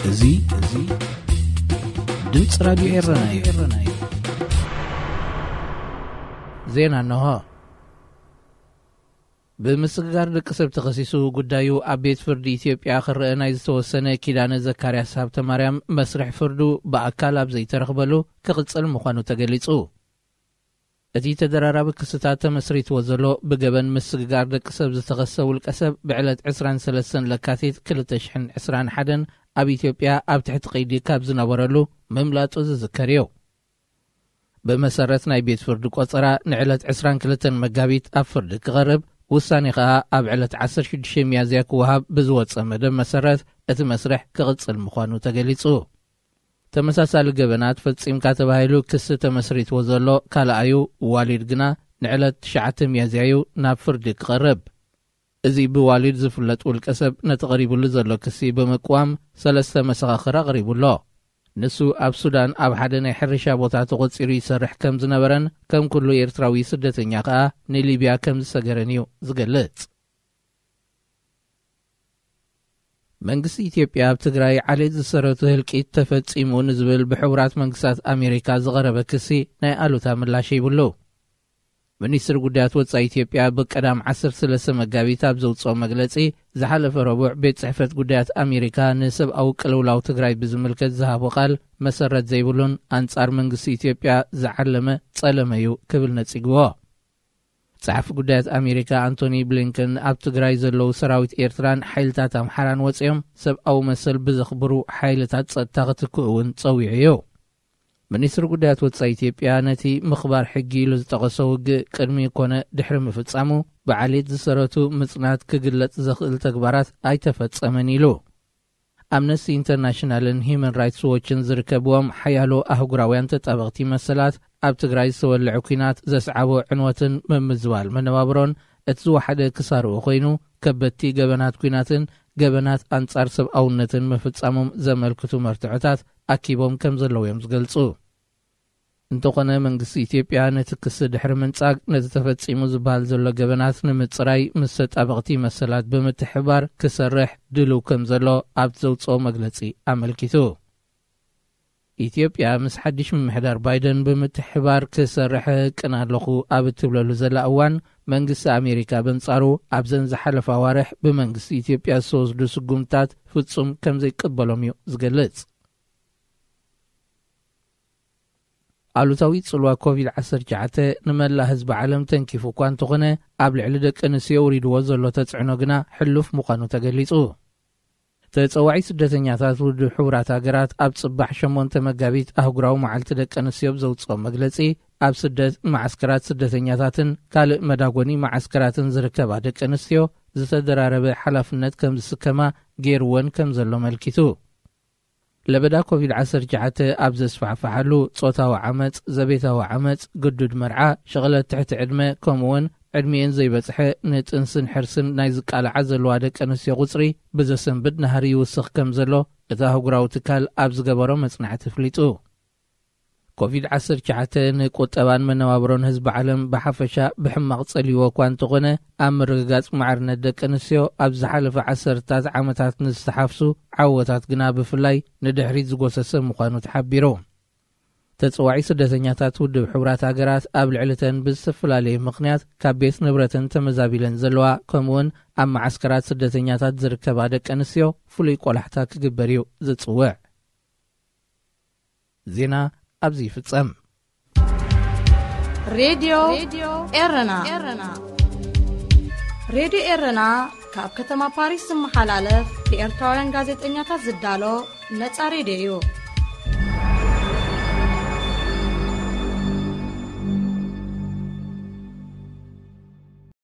እዚ፣ እዚ ድምፂ ራዲዮ ኤረና እዩ። ዜና እንሆ። ብምስግጋር ደቂ ሰብ ተኸሲሱ ጉዳዩ ኣብ ቤት ፍርዲ ኢትዮጵያ ክረአ ናይ ዝተወሰነ ኪዳነ ዘካርያስ ሃብተማርያም መስርሕ ፍርዱ ብኣካል ኣብ ዘይተረኽበሉ ክቕጽል ምዃኑ ተገሊጹ። እቲ ተደራራቢ ክስታት ተመስሪትዎ ዘሎ ብገበን ምስግጋር ደቂ ሰብ ዝተኸሰ ውልቀ ሰብ ብዕለት ዕስራን ሰለስተን ለካቲት ክልተ ሽሕን ዕስራን ሓደን ኣብ ኢትዮጵያ ኣብ ትሕቲ ቀይዲ ካብ ዝነበረሉ ምምላጡ ዝዝከር እዩ። ብመሰረት ናይ ቤት ፍርዲ ቆጸራ ንዕለት ዕስራን ክልተን መጋቢት ኣብ ፍርዲ ክቐርብ፣ ውሳኔ ከኣ ኣብ ዕለት ዓሰርተ ሽዱሽተ ሚያዝያ ክወሃብ ብዝወጸ መደብ መሰረት እቲ መስርሕ ክቕጽል ምዃኑ ተገሊጹ። ተመሳሳሊ ገበናት ፈጺምካ ተባሂሉ ክሲ ተመስሪትዎ ዘሎ ካልኣዩ ዋሊድ ግና ንዕለት ትሽዓተ ሚያዝያ እዩ ናብ ፍርዲ ክቐርብ። እዚ ብዋሊድ ዝፍለጥ ውልቀ ሰብ ነቲ ቀሪቡሉ ዘሎ ክሲ ብምቅዋም ሰለስተ መሰኻኽር ኣቕሪቡ ኣሎ። ንሱ ኣብ ሱዳን ኣብ ሓደ ናይ ሕርሻ ቦታ ተቖጺሩ ይሰርሕ ከም ዝነበረን ከም ኩሉ ኤርትራዊ ስደተኛ ከኣ ንሊብያ ከም ዝሰገረን እዩ ዝገልጽ። መንግስቲ ኢትዮጵያ ኣብ ትግራይ ዓሌት ዝሰረቱ ህልቂት ተፈጺሙ ንዝብል ብሕቡራት መንግስታት ኣሜሪካ ዝቐረበ ክሲ ናይ ኣሉታ ምላሽ ይብሉ። ሚኒስትሪ ጉዳያት ወጻኢ ኢትዮጵያ ብቀዳም ዓሰርተ ሰለስተ መጋቢት ኣብ ዘውጽኦ መግለጺ፣ ዝሓለፈ ረቡዕ ቤት ጽሕፈት ጉዳያት ኣሜሪካ ንሰብኣዊ ቅልውላው ትግራይ ብዝምልከት ዝሃቦ ቃል መሰረት ዘይብሉን ኣንጻር መንግስቲ ኢትዮጵያ ዝዓለመ ጸለመ እዩ ክብል ነጺግዎ። ጸሓፊ ጉዳያት ኣሜሪካ ኣንቶኒ ብሊንከን ኣብ ትግራይ ዘለዉ ሰራዊት ኤርትራን ሓይልታት ኣምሓራን ወጺኦም ሰብኣዊ መሰል ብዘኽብሩ ሓይልታት ጸጥታ ክትክኡ እውን ጸዊዑ እዩ። ሚኒስትሪ ጉዳያት ወጻኢ ኢትዮጵያ ነቲ ምኽባር ሕጊ ኢሉ ዝጠቐሶ ውግእ ቅድሚ ኮነ ድሕሪ ምፍጻሙ ብዓሌት ዝሰረቱ ምጽናት ክግለጽ ዘኽእል ተግባራት ኣይተፈጸመን ኢሉ። ኣምነስቲ ኢንተርናሽናልን ሂዩማን ራይትስ ዎችን ዝርከብዎም ሓያሎ ኣህጉራውያን ተጣበቕቲ መሰላት ኣብ ትግራይ ዝተወልዐ ኲናት ዘስዓቦ ዕንወትን ምምዝባል መነባብሮን እቲ ዝወሓደ ክሳርኡ ኮይኑ፣ ከበድቲ ገበናት ኲናትን ገበናት ኣንጻር ሰብኣውነትን ምፍጻሞም ዘመልክቱ መርትዖታት ኣኪቦም ከም ዘለዉ እዮም ዝገልጹ። እንተኾነ መንግስቲ ኢትዮጵያ ነቲ ክሲ ድሕሪ ምንጻግ ነቲ ተፈጺሙ ዝበሃል ዘሎ ገበናት ንምጽራይ ምስ ተጣበቕቲ መሰላት ብምትሕባር ክሰርሕ ድልው ከም ዘሎ ኣብቲ ዘውጽኦ መግለጺ ኣመልኪቱ። ኢትዮጵያ ምስ ሓድሽ ምምሕዳር ባይደን ብምትሕባር ክሰርሕ ቅን ኣለኹ ኣብ እትብለሉ ዘላ እዋን መንግስቲ ኣሜሪካ በንጻሩ ኣብዘን ዝሓለፋ ኣዋርሕ ብመንግስቲ ኢትዮጵያ ዝተወስዱ ስጉምታት ፍጹም ከም ዘይቅበሎም እዩ ዝገልጽ። ኣሉታዊ ጽልዋ ኮቪድ ዓሰርተ ትሽዓተ ንመላእ ህዝቢ ዓለም ተንኪፉ እኳ እንተኾነ፣ ኣብ ልዕሊ ደቂ ኣንስትዮ ውሪድዎ ዘሎ ተጽዕኖ ግና ሕሉፍ ምዃኑ ተገሊጹ። ተጸዋዒ ስደተኛታት ውድብ ሕቡራት ሃገራት ኣብ ጽባሕ ሸሞንተ መጋቢት ኣህጉራዊ መዓልቲ ደቂ ኣንስትዮ ብዘውጽኦ መግለጺ፣ ኣብ ስደት መዓስከራት ስደተኛታትን ካልእ መዳጎኒ መዓስከራትን ዝርከባ ደቂ ኣንስትዮ ዝተደራረበ ሓላፍነት ከም ዝስከማ ገይርወን ከም ዘሎ ኣመልኪቱ። ለበዳ ኮቪድ ዓሰርተ ትሽዓተ ኣብ ዘስፋሕፍሓሉ፣ ጾታዊ ዓመጽ፣ ዘቤታዊ ዓመጽ፣ ግዱድ መርዓ፣ ሽቕለት ትሕቲ ዕድመ፣ ከምኡ'ውን ዕድሚኤን ዘይበጽሐ ንጥንስን ሕርስን ናይ ዝቃልዓ ዘለዋ ደቂ ኣንስትዮ ቁጽሪ ብዘሰንብድ ናህሪ ይውስኽ ከም ዘሎ እቲ ኣህጉራዊ ትካል ኣብ ዝገበሮ መጽናዕቲ ኣፍሊጡ። ኮቪድ ዓሰርተ ትሽዓተ ንቁጠባን መነባብሮን ህዝቢ ዓለም ብሓፈሻ ብሕማቕ ጸልይዎ እኳ እንተኾነ፣ ኣብ ምርግጋጽ ማዕርነት ደቂ ኣንስትዮ ኣብ ዝሓለፈ ዓሰርታት ዓመታት ንዝተሓፍሱ ዓወታት ግና ብፍላይ ንድሕሪት ዝጎሰሰ ምዃኑ ተሓቢሩ። ተጸዋዒ ስደተኛታት ውድብ ሕቡራት ሃገራት ኣብ ልዕሊተን ብዝተፈላለየ ምኽንያት ካብ ቤት ንብረተን ተመዛቢለን ዘለዋ፣ ከምኡ'ውን ኣብ መዓስከራት ስደተኛታት ዝርከባ ደቂ ኣንስትዮ ፍሉይ ቆላሕታ ክግበር እዩ ዝጽውዕ። ዜና ኣብዚ ይፍጸም። ሬድዮ ኤረና። ሬድዮ ኤረና ካብ ከተማ ፓሪስ ዝመሓላለፍ ብኤርትራውያን ጋዜጠኛታት ዝዳሎ ነጻ ሬድዮ እዩ።